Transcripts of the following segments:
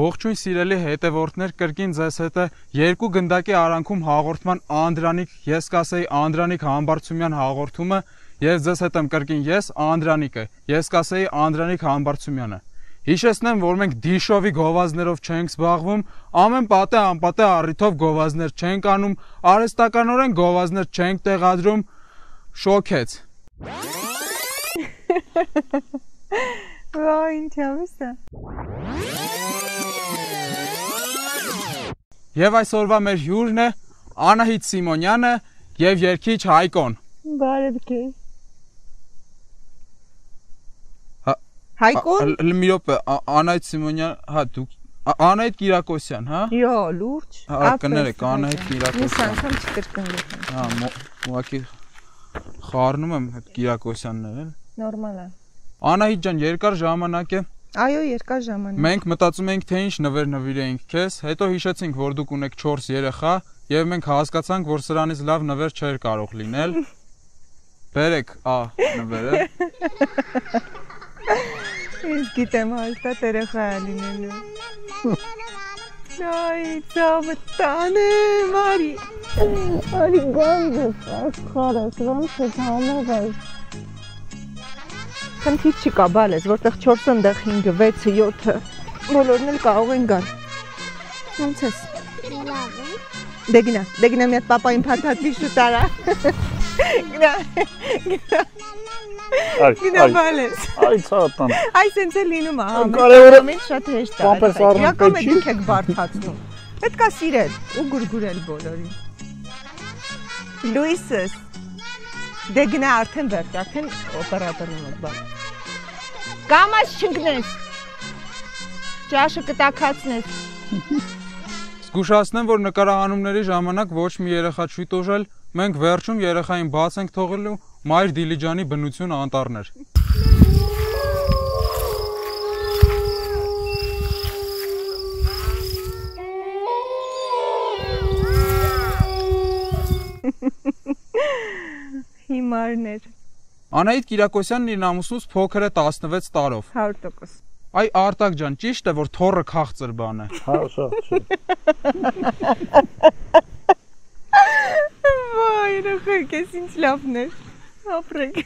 Ողջույն սիրելի հետևորդներ, կրկին ձեզ հետ է երկու գնդակի արանքում հաղորդման Անդրանիկ, ես կասեի Անդրանիկ Համբարձումյան հաղորդումը եւ ձեզ հետ եմ կրկին ես Անդրանիկը, ես կասեի Անդրանիկ Համբարձումյանը։ Հիշեցնեմ, որ մենք դիշովի գովազդներով չենք զբաղվում, ամեն պատե անպատե առիթով գովազդներ չենք անում, արհեստականորեն գովազդներ չենք տեղադրում, շոքեց։ Վայ, ինչ ավիսա։ Եվ այսօրվա մեր հյուրն է Անահիտ Սիմոնյանը եւ երգիչ Հայկոն։ Բարև քեզ։ Հայկոն։ Մի րոպե, Անահիտ Սիմոնյան, հա դուք Անահիտ Կիրակոսյան, հա։ Յո, լուրջ։ Հա, կներեք, Անահիտ Կիրակոսյան։ Ես անգամ չկրկնվեցի։ Հա, ուղղակի խառնում եմ այդ Կիրակոսյանները։ Նորմալ է։ Անահիտ ջան, երկար ժամանակ է։ Այո, երկար ժամանակ։ Մենք մտածում էինք, թե ինչ նվեր նվիրեինք քեզ, հետո հիշեցինք, որ դուք ունեք 4 երեխա, եւ մենք հասկացանք, որ սրանից լավ նվեր չէր կարող լինել։ Բերեք, նվերը։ Ես գիտեմ, հաստատ երեխա է լինելու։ Այ, ծավը տանը, Մարի։ Արի գանձս, աշխարհս, ոնց է համով։ Խնդիր չկա, բալես, որտեղ 4-ը, ընդեղ 5-ը, 6-ը, 7-ը, բոլորն էլ կարող են գալ։ Ոնց ես։ Լավ է։ Դե գնա մի հատ պապային փաթաթի շուտ արա։ Գնա բալես։ Այ ցատան։ Այ սենց է լինում է, ամեն շատ հեշտ է։ Իրական է դուք եք բարդացնում։ Պետք է սիրել ու գուրգուրել բոլորին։ Լուիսս։ Դե գնա արդեն վերջ, արդեն օպերատորն եք բան։ Կամաց չընկնես։ Ճաշը կտակացնես։ Զգուշացնեմ, որ նկարահանումների ժամանակ ոչ մի երեխա չի տուժել, մենք վերջում երեխային բաց ենք թողելու Մայր Դիլիջանի բնություն անտառներ։ Հիմարներ։ Անահիտ Կիրակոսյանն իր ամուսնուց փոքր է 16 տարով։ 100%։ Այ Արտակ ջան, ճիշտ է, որ թոռը քաղցր բան է։ Հա, շա։ Վայ, երեխեք, ես ինչ լավն էր։ Ապրեք։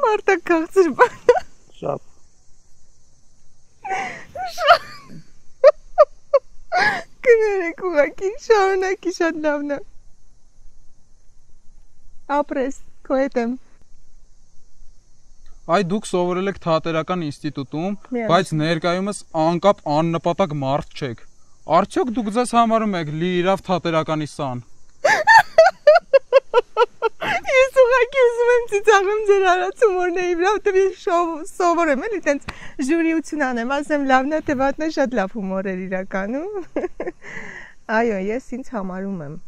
Մարտա քաղցր բան։ Շատ։ Կներեք ուղղակի, շարունակի շատ լավն է։ Ապրես, քո հետ եմ։ Այ դուք սովորել եք թատերական ինստիտուտում, բայց ներկայումս անկապ աննպատակ մարդ չեք։ Արդյոք դուք ձեզ համարում եք լիիրավ թատերականի սան։ Ես ուղղակի ուզում եմ ծիծաղեմ ձեր արած հումորների վրա, որտեղ ես սովորեմ էլի տենց ժյուրիություն անեմ, ասեմ լավն է, թե վատն է, շատ լավ հումոր էր իրականում։ Այո, ես ինձ համարում եմ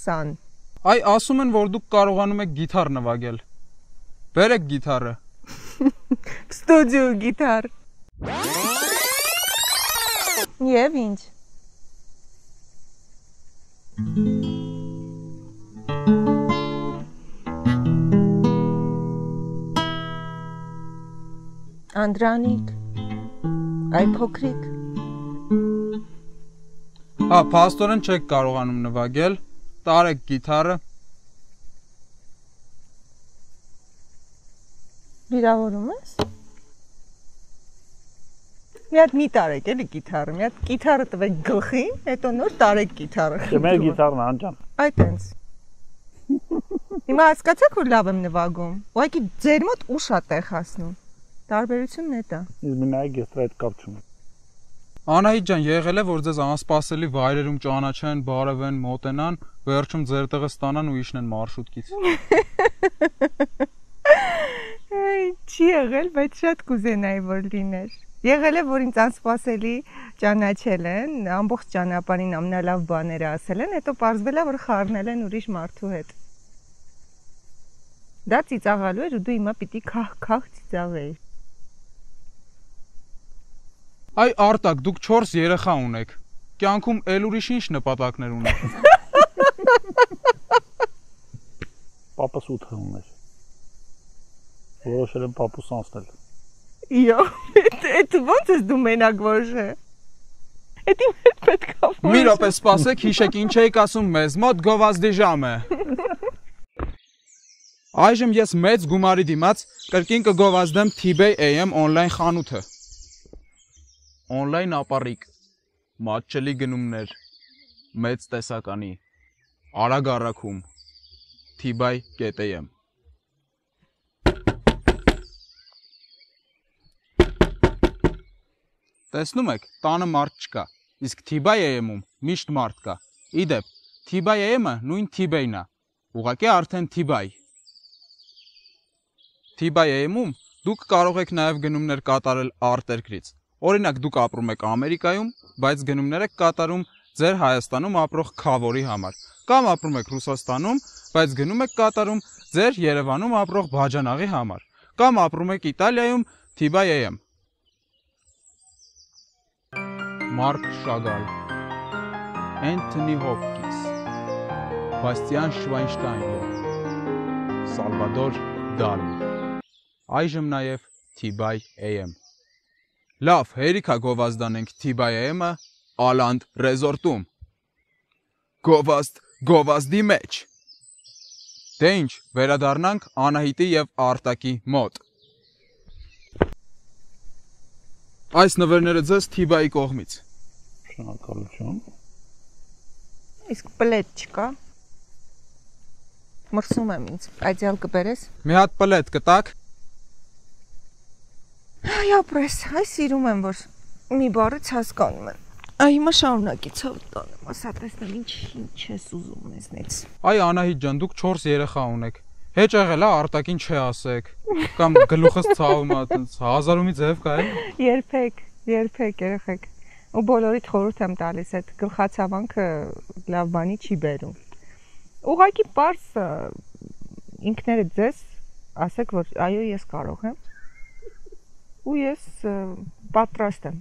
սան։ Այ ասում են, որ դուք կարողանում եք գիթառ նվագել։ Բերեք գիթառը։ Ստուդիո գիթառ։ Եվ ինչ։ Անդրանիկ, այ փոքրիկ։ Հա, փաստորեն չեք կարողանում նվագել, տարեք գիթառը։ Վիրավորում ես։ Մի հատ մի տարեք էլի գիտարը, մի հատ գիտարը տվեք գլխին, հետո նոր տարեք գիտարը։ Չէ, մեր գիտարն անջան։ Այդ այնց։ Հիմա հասկացաք որ լավ եմ նվագում։ Ուղղակի ձեր մոտ ուշ է տեղ հասնում։ Տարբերությունն է դա։ Իսկ մենակ ես այդ կապ չունեմ։ Անահիտ ջան, եղել է որ ձեզ անսպասելի վայրերում ճանաչեն, բարևեն, մոտենան, վերջում ձեր տեղը ստանան ու իջնեն մարշրուտքից։ Չի եղել, բայց շատ կուզենայի որ լիներ։ Եղել է որ ինձ անսպասելի ճանաչել են, ամբողջ ճանապարհին ամենալավ բաները ասել են, հետո պարզվել է որ խառնել են ուրիշ մարդու հետ։ Դա ծիծաղալու էր ու դու հիմա պիտի քահ ծիծաղեիր։ Այ Արտակ, դուք 4 երեխա ունեք։ Կյանքում էլ ուրիշ ինչ նպատակներ ունեք։ Պապս 8 ուներ։ Որոշել եմ պապուս անցնել։ Իո, այդ ո՞նց ես դու մենակ որոշել։ Էդի պետք է։ Մի րոպե սպասեք, հիշեք ինչ եք ասում մեզ, մոտ գովազդի ժամ է։ Այժմ ես մեծ գումարի դիմաց կրկին կգովազդեմ T-Bay AM on-line խանութը։ On-line ապառիկ, մատչելի գնումներ, մեծ տեսականի, արագ առաքում, T-Bay.am։ Տեսնում եք, տանը մարդ չկա, իսկ T-Bay AM-ում միշտ մարդ կա։ Իդեպ, T-Bay AM-ը նույն T-Bay-ն է, ուղղակի արդեն T-Bay։ T-Bay AM-ում դուք կարող եք նաև գնումներ կատարել արտերկրից։ Օրինակ դուք ապրում եք Ամերիկայում, բայց գնումներ եք կատարում ձեր Հայաստանում ապրող քավորի համար, կամ ապրում եք Ռուսաստանում, բայց գնում եք կատարում ձեր Երևանում ապրող բաժանաղի համար, կամ ապրում եք Իտալիայում T-Bay AM։ Մարկ Շագալ, Անթոնի Հոփկինս, Բաստիան Շվայնշտայն, Սալվադոր Դալի, այժմ նաև T-Bay AM։ Լավ, հերիքա գովազդանենք T-Bay AM-ը Ալանդ ռեզորտում։ Գովազդի մեջ։ Դե ինչ, վերադառնանք Անահիտի եւ Արտակի մոտ։ Այս նվերները ձեզ T-Bay կողմից։ Շնորհակալություն։ Իսկ պլետ չկա։ Մրսում եմ ինձ, այդյալ կբերես։ Մի հատ պլետ կտակ։ Այ ապրես, այ սիրում եմ որ մի բառից հասկանում եմ։ Այ հիմա շարունակի ցավ տանեմ, ասա տեսնեմ ինչ ես ուզում մեզնից։ Այ Անահիտ ջան, դուք 4 երեխա ունեք։ Հեչ եղել է Արտակին չասեք, կամ գլուխս ցավում է, այտենց հազարումի ձև կա է։ Երբեք երեխեք։ Ու բոլորիդ խորհուրդ եմ տալիս, այդ գլխացավանքը լավ բանի չի բերում։ Ուղղակի պարզ ինքներդ ձեզ ասեք որ այո ես կարող եմ։ Ու ես պատրաստ եմ։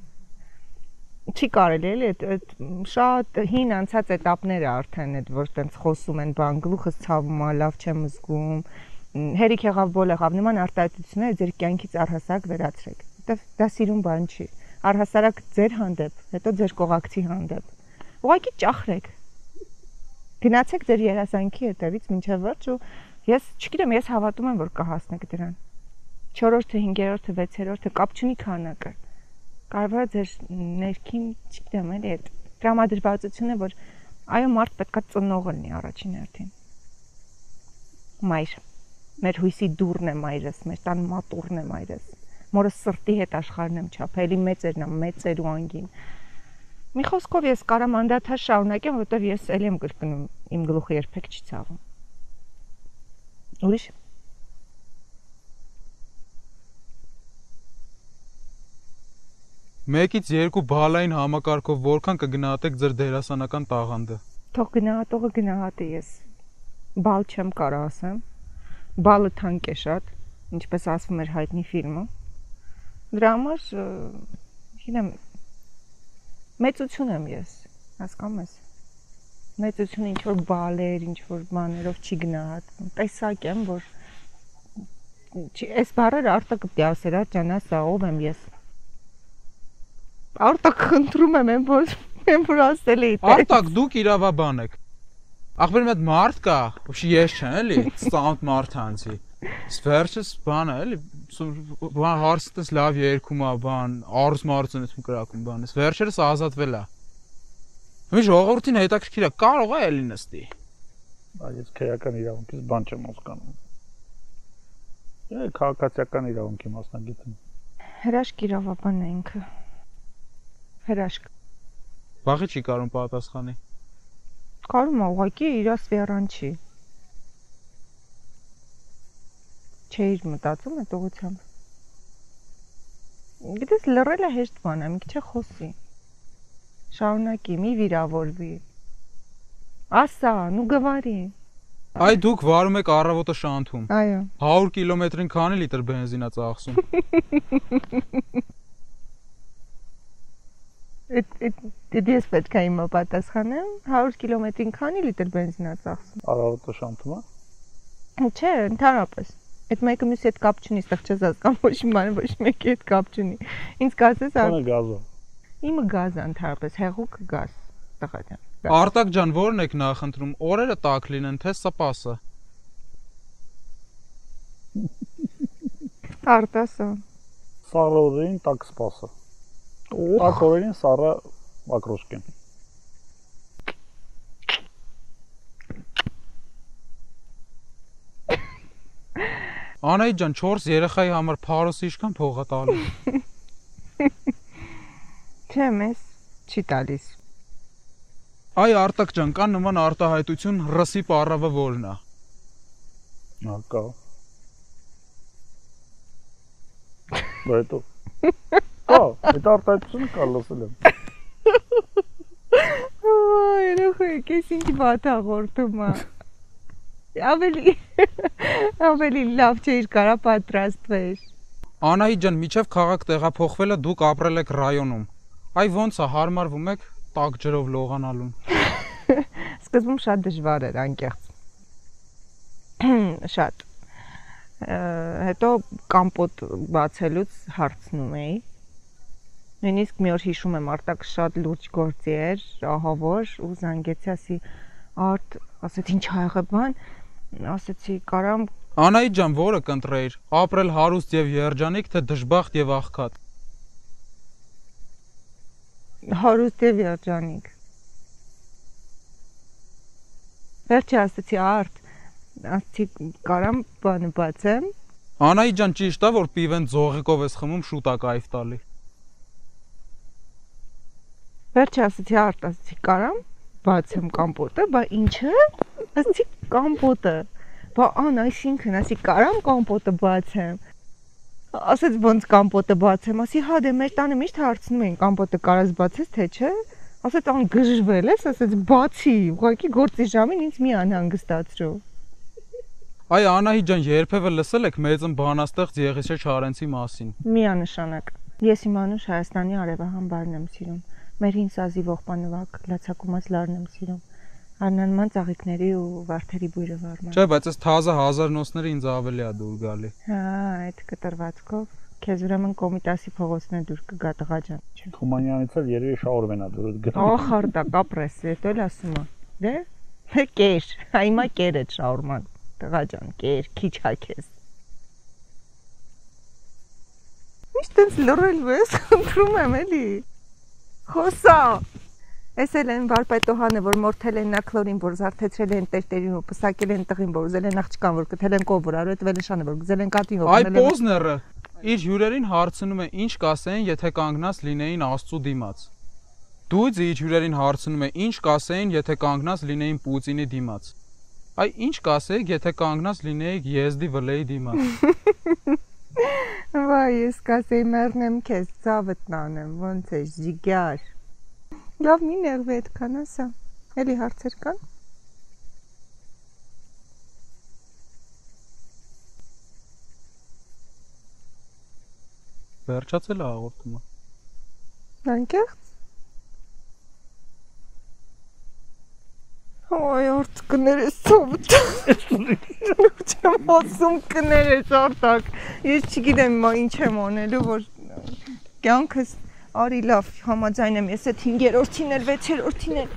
Չի կարելի էլի այդ շատ հին անցած էտապները արդեն այդ որ տենց խոսում են բան գլուխս ցավում է, լավ չեմ զգում, հերիք եղավ բոլ եղավ նման արտահայտությունները ձեր կյանքից առհասարակ վերացրեք։ Դա սիրուն բան չի։ Առհասարակ ձեր հանդեպ, հետո ձեր կողակցի հանդեպ։ Ուղղակի ճախրեք։ Գնացեք ձեր երազանքի հետևից մինչև վերջ ու ես չգիտեմ, ես հավատում եմ որ կհասնեք դրան։ 4-րդը, 5-րդը, 6-րդը կապ չունի քանակը։ Կարևորը ձեր ներքին, չգիտեմ, էլի այդ տրամադրվածությունը, որ այո մարդ պետքա ծնողը լինի առաջին հերթին։ Մայր, մեր հույսի դուռն է մայրս, մեր տան մատուռն է մայրս։ Մորը սրտի հետ աշխարհն եմ չափել, էլի մեծերն եմ, մեծեր ու անգին։ Մի խոսքով ես կարամ անդադար շարունակեմ, որովհետև ես էլի եմ կրկնում, իմ գլուխը երբեք չի ցավում։ Ուրիշ Մեկից 2 բալային համակարգով որքան կգնահատեք ձեր դերասանական տաղանդը։ Թող գնահատողը գնահատի ես։ Բալ չեմ կարող ասեմ։ Բալը թանկ է շատ, ինչպես ասվում էր հայտնի ֆիլմում։ Դրա համար գիտեմ մեծություն եմ ես, հասկանում ես։ Մեծությունը ինչ որ բալեր, ինչ որ բաներով չի գնահատվում։ Տեսակ եմ, որ այս բառերը Արտակը պիտի ասեր, ջան, ասա ով եմ ես։ Արտակ խնդրում եմ որ ասել էի։ Արտակ դուք իրավաբան եք։ Ախպեր մի հատ մարդ կա, ոչի ես չեմ էլի, ստանտ մարդ անցի։ Վերջս բան է, էլի, բան հարցս լավ երկում է, բան, արուս մարուծն եմ կրակում բանս։ Վերջերս ազատվել է։ Մի ժողովրդին հետաքրքիր է, կարող է էլի նստի։ Այս քրեական իրավունքից բան չեմ հասկանում։ Քաղաքացիական իրավունքի մասնագետ եմ։ Հրաշք իրավաբանն է ինքը։ Հրաշք։ Վաղի չի կարող պատասխանի։ Կարում է ուղղակի իր սվերանչի։ Չէիր մտածում այդ ուղղությամբ։ Գիտես լռելը հեշտ բան է, մի քիչ խոսի։ Շարունակի, մի վիրավորվի։ Ասա, նու գվարի։ Այ դուք վարում եք առավոտը շանթում։ Այո։ 100 կիլոմետրին քանի լիտր բենզին է ծախսում։ Դες պետք է իմը պատասխանեմ, 100 կիլոմետրին քանի լիտր բենզին է ծախսում։ Առավոտը շանթում է։ Չէ, ընդհանրապես։ Այդ մեկը մյուսի հետ կապ չունի, այստեղ չես հասկանում, ոչ մի բան, ոչ մեկի հետ կապ չունի։ Ինձ կասես, Ո՞ն է գազը։ իմը գազը ընդհանրապես, հեղուկ գազ, տղա ջան։ Արտակ ջան, ո՞րն եք նախընտրում, օրերը տաք լինեն, թե սպասը։ Արտասը։ Սառը օրերին տաք սպասը։ Տաք օրերին սառը ակրոշկեն։ Անայի ջան, 4 երեխայի համար փարոսը ինչքան փող է տալու։ Չէ, մեզ չի տալիս։ Այ Արտակ ջան, կան նման արտահայտություն ռսի պարավը որն է։ Կա։ Բայց այդ արտահայտությունը կա լսել եմ։ Այ, երեխեք, ես ինչ բաթ հաղորդում է։ Ավելի լավ չէր կարա պատրաստվեր։ Անայի ջան, միջև քաղաք տեղափոխվելը դուք ապրել եք ռայոնում։ Այ ոնց է հարմարվում եք տաք ջրով լողանալուն։ Սկզբում շատ դժվար էր անկեղծ։ Շատ։ Հետո կամպոտ բացելուց հարցնում էի։ Նույնիսկ մի օր հիշում եմ, Արտակ շատ լուրջ գործի էր, ահավոր, ու զանգեցի, ասի Արդ, ասեց ինչ ա եղել բան, ասեցի կարամ։ Անայի ջան, որը կընտրեիր, ապրել հարուստ եւ երջանիկ, թե դժբախտ եւ աղքատ։ Հարուստ եւ երջանիկ։ Վերջի ասեցի Արդ, ասեցի կարամ բանը բացեմ։ Անայի ջան, ճիշտ է, որ պիվեն ձողիկով ես խմում, շուտ է կայֆ տալի։ Վերջի ասեցի Արդ, ասեցի կարամ բացեմ կամպոտը, բա ինչը։ Ասեցի կամպոտը։ Բա ան, այսինքն, ասի կարամ կամպոտը բացեմ։ Ասեց ոնց կամպոտը բացեմ, ասի հա դե մեր տանը միշտ հարցնում էին կամպոտը կարաս բացես թե չէ։ Ասեց ան գժվել ես, ասեց բացի, ուղղակի գործի ժամին ինձ մի անհանգստացրու։ Այ Անահի ջան, երբևէ լսել եք մեծն բանաստեղծ Եղիսե Չարենցի մասին։ Միանշանակ։ Ես իմ անուշ Հայաստանի արևահան եմ սիրում։ Մեր հին սազի ողբանվակ լացակումած լարն եմ սիրում։ Արնանման ծաղիկների ու վարդերի բույրը վարման։ Չէ, բայց այս թազը 1000-նոցները ինձ ավելի է դուր գալի։ Հա, այդ կտրվածքով քեզ ուրեմն Կոմիտասի փողոցն է դուր կգա տղա ջան, չէ։ Թումանյանից էլ երևի շահորվեն է դուրս գտա։ Ախարդա կապրես, հետո էլ ասում է։ Դե, կեր, հիմա կեր է շաուրման։ Տղա ջան, կեր, քիչ հա քեզ։ Միշտ ինձ լռելու ես, խնդրում եմ էլի։ Խոսա։ Էս էլ են վարպետոհանը, որ մորթել են նա քլորին, որ զարթեցրել են տերտերին ու պսակել են տղին, որ ուզել են աղջկան, որ կթել են կով, որ արու այդ վելեշանը, որ գզել են կատին, որ Այ Պոզները իր հյուրերին հարցնում է ինչ կասեին, եթե կանգնած լինեին Աստծու դիմաց։ Դույձը իր հյուրերին հարցնում է ինչ կասեին, եթե կանգնած լինեին Պուտինի դիմաց։ Այ ինչ կասեիք, եթե կանգնած լինեիք Եզդի վլեի դիմաց։ Վայ, ես կասեի մեռնեմ քեզ, ցավդ տանեմ, ոնց է ժիգար։ Լավ մի ներվի այդքան ասա։ Էլի հարցեր կան։ Վերջացել է հաղորդումը։ Անկեղծ։ Ոյ, օրդ կներես ծովտ։ Չեմ ասում կներես Արտակ։ Ես չգիտեմ ինչ եմ անելու, որ կյանքս արի լավ համաձայն եմ ես այդ 5-րդին էլ 6-րդին էլ